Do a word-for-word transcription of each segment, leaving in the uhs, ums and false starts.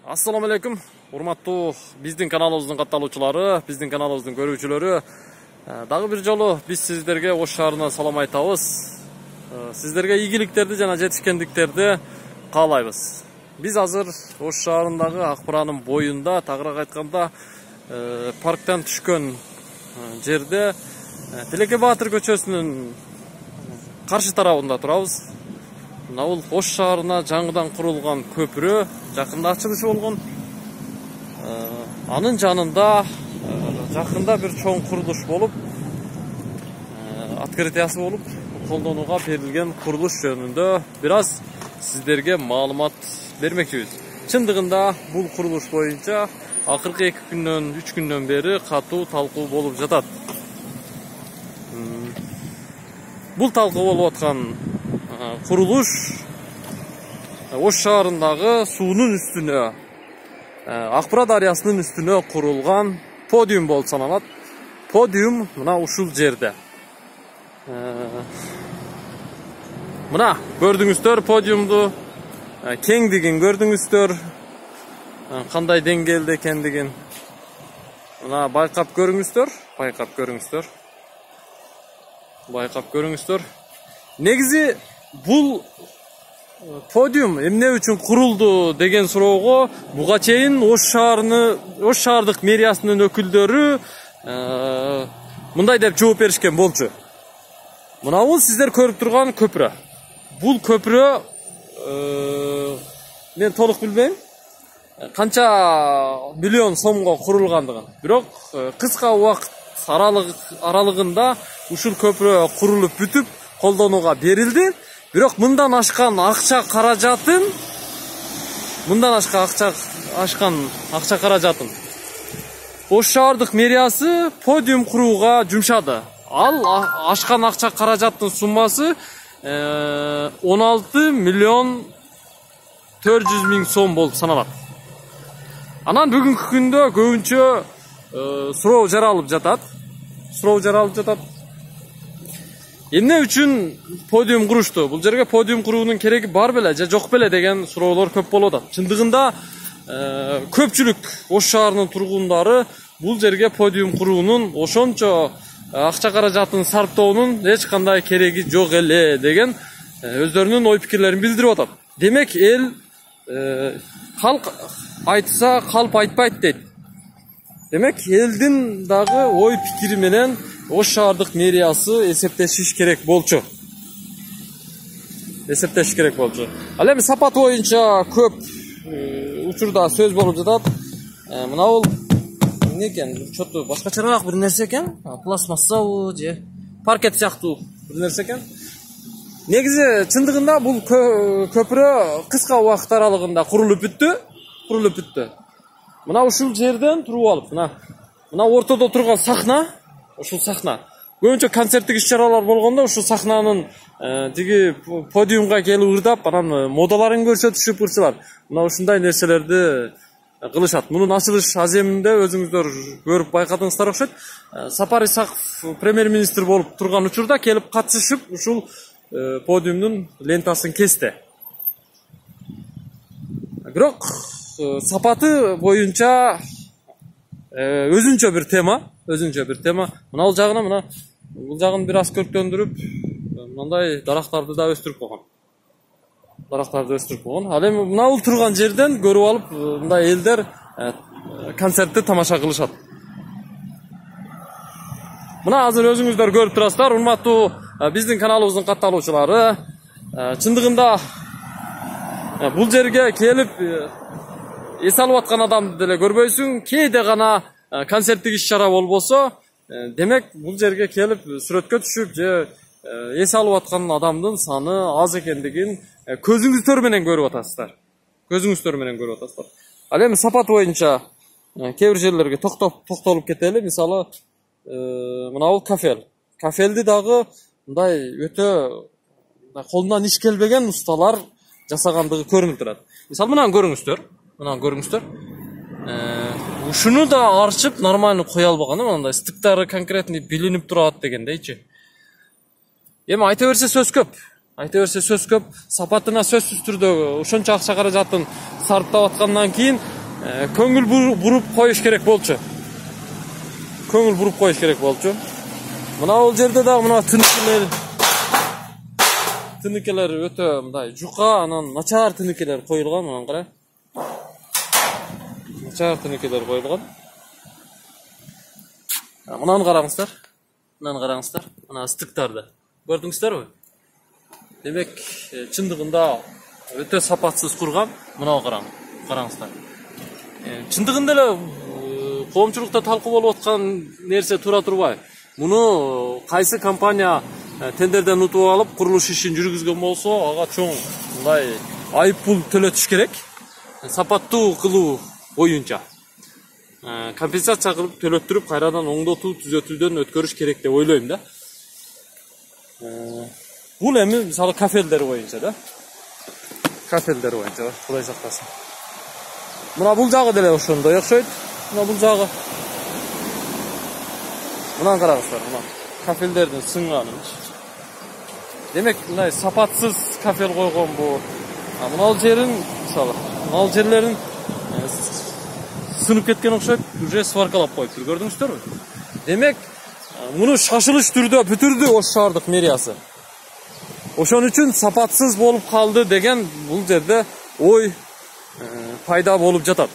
Assalamu alaikum. Урматтуу биздин каналыбыздын катталуучулары, биздин каналыбыздын көрүүчүлөрү. Дагы бир жолу биз сиздерге Ош шаарына салам айтабыз. Сиздерге ийгиликтерди жана жетишкендиктерди каалайбыз. Биз азыр Ош шаарындагы Акбыранын боюнда, тагыраак айтканда, парктан түшкөн жерде Тилеке Баатыр көчөсүнүн каршы тарабында турабыз. Мына бул Ош шаарына жаңыдан курулган көпүрө жакында ачылышы болгон. Анын жанында жакында бир чоң курулуш болуп, открытиясы болуп, колдонууга берилген курулуш жөнүндө бир аз сиздерге маалымат бермекчибиз. Чындыгында бул курулуш боюнча акыркы эки күндөн, үч күндөн бери катуу талкуу болуп жатат. Бул талкуу болуп аткан курулуш Ош шаарындагы суунун үстүнө, Акбыра дарыясынын үстүнө курулган подиум болуп саналат. Подиум мына ушул жерде. Мына көрдүңүздөр подиумду, кеңдигин көрдүңүздөр, кандай деңгээлде экендигин. Мына байкап көрүңүздөр, байкап көрүңүздөр. Байкап көрүңүздөр. Негизи бул подиум эмне үчүн курулду деген суроого буга чейин Ош шаарыны, Ош шаардык мэриясынын өкүлдөрү мындай деп жооп беришкен болчу. Мына бул сиздер көрүп турган көпүрө. Бул көпүрө мен толук билбейм канча миллион сомго курулгандыгын. Бирок кыска убакыт аралыгында ушул көпүрө курулуп бүтүп колдонууга берилди. Бирок мындан ашкан акча каражатын, мындан ашкан акча ашкан акча каражатын Ош шаардык мэриясы подиум курууга жумшады. Ал ашкан акча каражаттын суммасы он алты миллион төрт жүз миң сом болуп саналат. Анан бүгүнкү күндө көбүнчө суроо жаралып жатат. Суроо жаралып жатат. Эмне үчүн подиум курушту? Бул жерге подиум куруунун кереги бар беле же жок беле деген суроолор көп болуп атат. Чындыгында көпчүлүк Ош шаарынын тургундары бул жерге подиум куруунун, ошончо акча каражатын сарптоонун эч кандай кереги жок эле деген өздөрүнүн ой пикирлерин билдирип атат. Демек эл калк айтса калп айтпайт дейт. Демек элдин дагы ой пикири менен Ош шаардык мэриясы эсептешиш керек болчу. Эсептешиш керек болчу. Ал эми сапат боюнча көп учурда сөз болуп жатат. Мына бул эмне экен? Чоту башкачараак бир нерсе экен. Пластмассабы же паркет сыяктуу бир нерсе экен. Негизи чындыгында бул көпүрө кыска убакыт аралыгында курулуп бүттү, курулуп бүттү. Мына ушул жерден туруп алып, мына мына ортодо турган сахна, ушул сахна. Көбүнчө концерттик иш-чаралар болгондо ушул сахнанын тиги подиумга келип ырдап, анан модаларын көрсөтүшүп ырчылар. Мына ушундай нерселерди кылышат. Мунун ачылыш аземинде өзүңүздөр көрүп байкадыңыздар окшойт. Сапар Исаков премьер-министр болуп турган учурда келип катышып ушул подиумдун лентасын кести. Бирок сапаты боюнча өзүнчө бир тема, өзүнчө бир тема. Мына бул жагына, мына бул жагын бир аз көрктөндүрүп, мындай дарактарды да өстүрүп койгон. Дарактарды өстүрүп койгон. Ал эми мына бул турган жерден көрүп алып, мындай элдер концертти тамаша кылышат. Мына азыр өзүңүздөр көрүп турасыздар, урматтуу биздин каналыбыздын катталуучулары. Чындыгында бул жерге келип эс алып аткан адамды деле көрбөйсүң. Кээде гана концерттик иш-чара болбосо, демек бул жерге келип сүрөткө түшүп же эс алып аткан адамдын саны аз экендигин көзүңүздөр менен көрүп атасыздар. Көзүңүздөр менен көрүп атасыздар. Ал эми сапат боюнча кээ бир жерлерге токтоп токтолуп кетели. Мисалы, мына бул кафел. Кафелди дагы мындай өтө колунан иш келбеген усталар жасагандыгы көрүнүп турат. Мисалы, мынаны көрүңүздөр. Мына көрүңүздөр. Ушуну да арчып нормально кое албаган, мындай стыктары конкретный билинип турат дегендейчи. Эми айта берсе сөз көп. Айта берсе сөз көп, сапатына сөзсүз түрдө ошончо акча каражатын сарптап аткандан кийин көңүл буруп коюш керек болчу. Көңүл буруп коюш керек болчу. Мына бул жерде дагы мына тыныкелер тыныкелер өтө мындай жука, анан начар тыныкелер коюлган, мына кара. Начар тыныкелер коюлган. Мынаны караңыздар. Мынаны караңыздар. Мына ыстыктарды. Көрдүңүздөрбү? Демек, чындыгында өтө сапатсыз курган. Мына караң, караңыздар. Чындыгында эле коомчулукта талкуу болуп аткан нерсе тура турбай. Муну кайсы компания тендерден утуп алып, курулуш ишин жүргүзгөн болсо, ага чоң мындай айып пул төлөтүш керек. Сапаттуу кылуу боюнча компенсация кылып төлөттүрүп, кайрадан оңдотуу, түзөтүүдөн өткөрүш керек деп ойлойм да. Бул эми мисалы кафелдер боюнча да. Кафелдер боюнча, Кудай сактасын. Мына бул жагы деле ошондой окшойт. Мына бул жагы. Мына караңыздар, мына кафелдердин сынганы. Демек, мындай сапатсыз кафел койгон бу. Мына жерин, мисалы, мына жерлерин сынып кеткен окшойт, уже сваркалап коюптур, көрдүңүздөрбү? Демек, муну шашылыш түрдө бүтүрдү Ош шаардык мэриясы. Ошон үчүн сапатсыз болуп калды деген бул жерде ой пайда болуп жатат.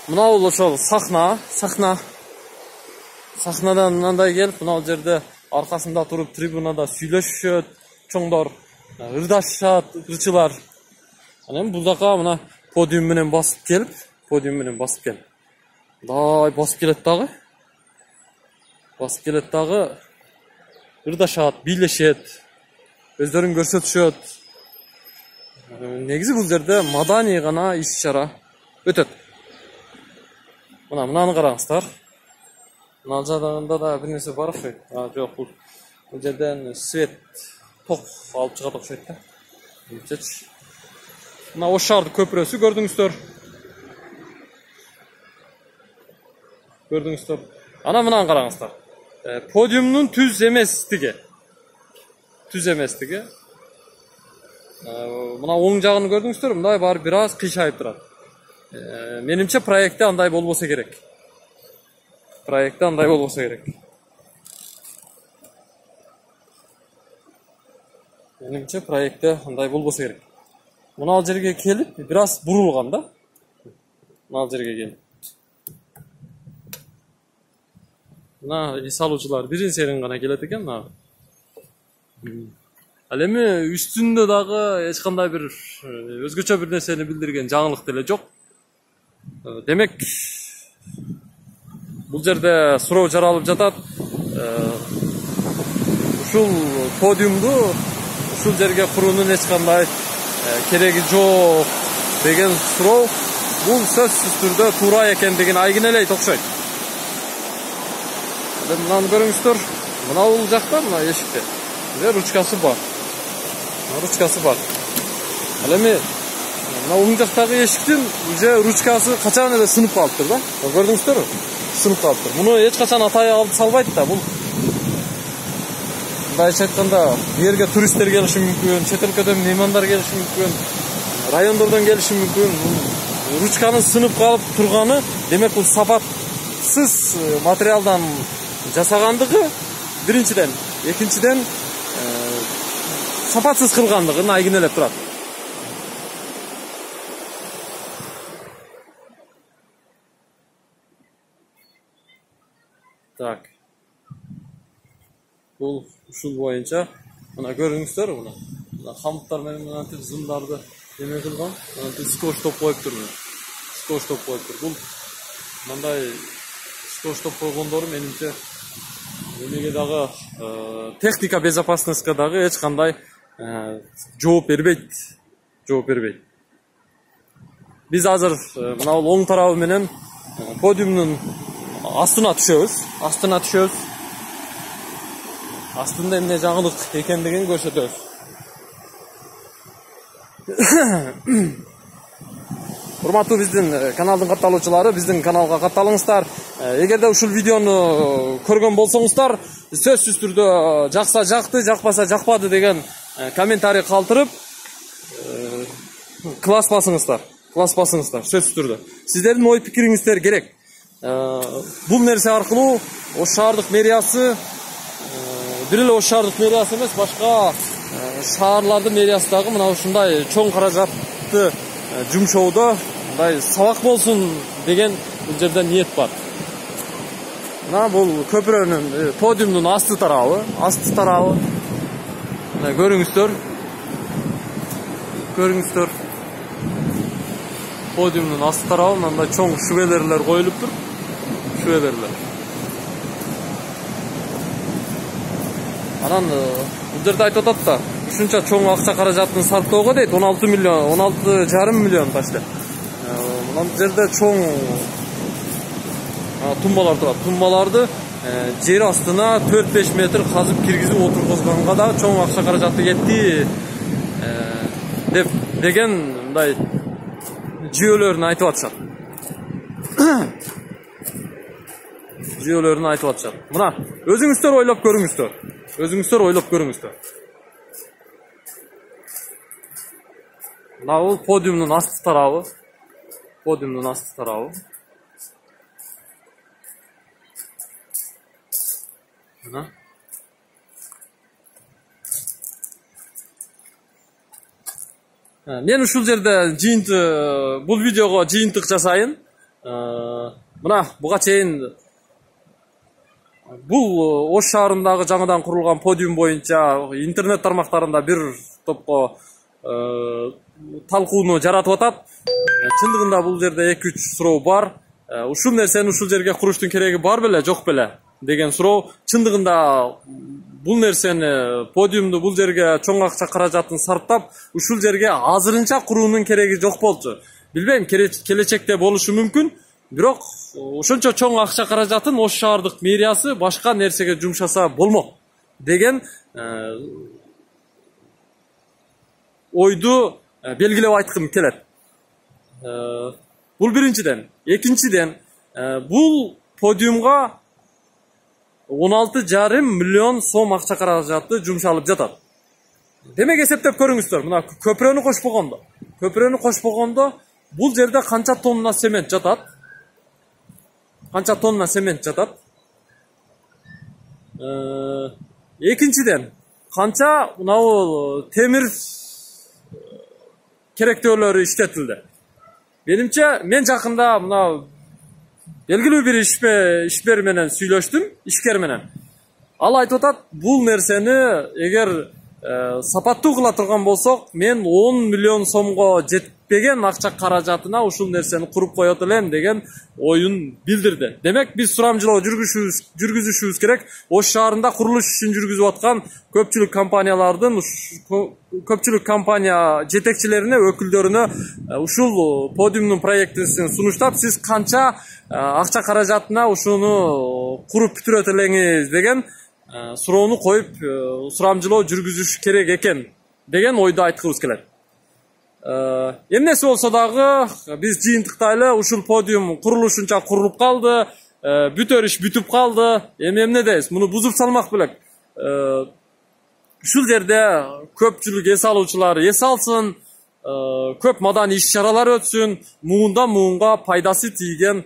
Мына бул ошол сахна, сахна. Сахнадан мындай келип, мына жерде аркасында туруп трибунада сүйлөшүшөт, чоңдор ырдашат, ырчылар. Анан бул жака мына подиум менен басып келип, подиум менен басып келип. Дай басып келет дагы. Басып келет дагы. Ырдашат, бийлешет, өздөрүн көрсөтүшөт. Негизи бул жерде маданий гана иш-чара өтөт. Мына мынаны караңыздар. Мына жагында да бир нерсе бар окшойт. А, жок, бул бул жерден свет, ток алып чыгат окшойт да. Билчечи. Мына Ош шаардык көпүрөсү көрдүңүздөр. Көрдүңүздөр. Ана мынаны караңыздар. Подиумдун түз эместиги. Түз эместиги. Мына оң жагын көрдүңүздөр, мындай бар бир аз кыйшайып турат. Менимче проектте андай болбосо керек. Проектте андай болбосо керек. Менимче проектте андай болбосо керек. Мына жерге келип, бир аз бурулган да. Мына жерге келип. Мына иш алуучулар бирин серин гана келет экен, мына. Ал эми үстүндө дагы эч кандай бир өзгөчө бир нерсени билдирген жаңылык деле жок. Демек, бул жерде суроо жаралып жатат. Ушул подиумду ушул жерге куруунун эч кандай кереги жок деген суроо бул сөзсүз түрдө туура экендигин айгинелейт окшойт. Мынаны көрүңүздөр. Мына бул жакта, мына эшикте. Мына ручкасы бар. Ручкасы бар. Ал эми мына оң жактагы эшиктин уже ручкасы качан эле сынып калыптыр да. Көрдүңүздөрбү? Сынып калыптыр. Муну эч качан атай алып салбайт да. Бул мындайча айтканда, бу жерге туристтер келиши мүмкүн, чет өлкөдөн меймандар келиши мүмкүн, райондордон келиши мүмкүн. Ручканын сынып калып турганы, демек бул сапатсыз материалдан жасагандыгы биринчиден, экинчиден сапатсыз кылгандыгын айгинелеп турат. Так. Бул ушул боюнча мына көрүңүздөр, мына. Мына камыттар менен мынтип зымдарды эме кылган, мынтип скотчтоп коюптур. Скотчтоп коюптур. Бул мындай скотчтоп койгондору менимче эмеге дагы техника безопасностька дагы эч кандай жооп бербейт. Жооп бербейт. Биз азыр мына бул оң тарабы менен подиумдун астына түшөбүз. Астына түшөбүз. Астында эмне жаңылык экендигин көрсөтөбүз. Урматтуу биздин каналдын катталуучулары, биздин каналга катталыңыздар. Эгерде ушул видеону көргөн болсоңуздар, сөзсүз түрдө жакса жакты, жакпаса жакпады деген комментарий калтырып класс басыңыздар. Класс басыңыздар сөзсүз түрдө. Сиздердин ой пикириңиздер керек. Бул нерсе аркылуу Ош шаардык мэриясы бир эле Ош шаардык мэриясы эмес, башка шаарлардын мэриясы дагы мына ушундай чоң каражатты жумшоодо мындай сабак болсун деген бул жерде ниет бар. Мына бул көпүрөнүн подиумдун асты тарабы, асты тарабы. Мына көрүңүздөр. Көрүңүздөр. Подиумдун асты тарабы мындай чоң шүбелерлер коюлуптур. Шүбелерлер. Анан бул жерде айтып атат да, ушунча чоң акча каражатын сарптоого дейт, он алты миллион, он алты жарым миллион почти. Мына бул жерде чоң тумбалар турат. Тумбаларды жер астына төрт беш метр казып киргизип отургузганга да чоң акча каражаты кетти деп деген мындай жүйөлөрүн айтып атышат. Жүйөлөрүн айтып атышат. Мына өзүңүздөр ойлоп көрүңүздөр. Өзүңүздөр ойлоп көрүңүздөр. Мына бул подиумдун асты тарабы. Подиумдун асты тарабы. Мына. Мен ушул жерде жыйынтык, бул видеого жыйынтык жасайын. Мына буга чейин бул Ош шаарындагы жаңыдан курулган подиум боюнча интернет тармактарында бир топко талкууну жаратып атат. Чындыгында бул жерде эки үч суроо бар. Ушул нерсени ушул жерге куруштун кереги бар беле, жок беле деген суроо. Чындыгында бул нерсени, подиумду бул жерге чоң акча каражатын сарптап, ушул жерге азырынча куруунун кереги жок болчу. Билбейм, келечекте болушу мүмкүн. Бирок ошончо чоң акча каражатын Ош шаардык мэриясы башка нерсеге жумшаса болмок деген ойду белгилеп айткым келет. Бул биринчиден. Экинчиден, бул подиумга он алты жарым миллион сом акча каражаты жумшалып жатат. Демек эсептеп көрүңүздөр, мына көпүрөнү кошпогондо, көпүрөнү кошпогондо бул жерде канча тонна цемент жатат? Канча тонна цемент жатат? Экинчиден, канча мына бул темир керектөөлөрү иштетилди? Менимче, мен жакында мына белгилүү бир ишбер менен сүйлөштүм, ишкер менен. Ал айтып атат, бул нерсени эгер сапаттуу кыла турган болсок, мен он миллион сомго жетпеген акча каражатына ушул нерсени куруп коет элем деген оюн билдирди. Демек, биз сурамжылоо жүргүзүшүбүз керек. Ош шаарында курулуш ишин жүргүзүп аткан көпчүлүк компаниялардын, көпчүлүк компания жетекчилерине, өкүлдөрүнө ушул подиумдун проектисин сунуштап, сиз канча акча каражатына ушуну куруп бүтүрөт элеңиз деген суроону коюп, сурамжылоо жүргүзүш керек экен деген ойду айткыбыз келет. Эмнеси болсо дагы биз жыйынтыктайлы, ушул подиум курулушунча курулуп калды, бүтөр иш бүтүп калды. Эми эмне дейбиз? Муну бузуп салмак белек. Ушул жерде көпчүлүк эс алуучулар эс алсын, көп маданий иш-чаралар өтсүн, муундан муунга пайдасы тийген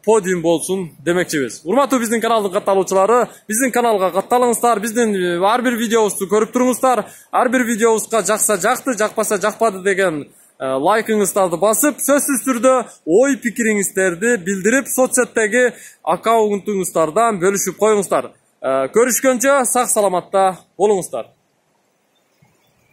подиум болсун демекчибиз. Урматтуу биздин каналдын катталуучулары, биздин каналга катталыңыздар, биздин ар бир видеобузду көрүп туруңуздар. Ар бир видеобузга жакса жакты, жакпаса жакпады деген лайкыңыздарды басып, сөзсүз түрдө ой пикириңиздерди билдирип, соц сеттеги аккаунтуңуздардан бөлүшүп коюңуздар. Көрүшкөнчө сак саламатта болуңуздар.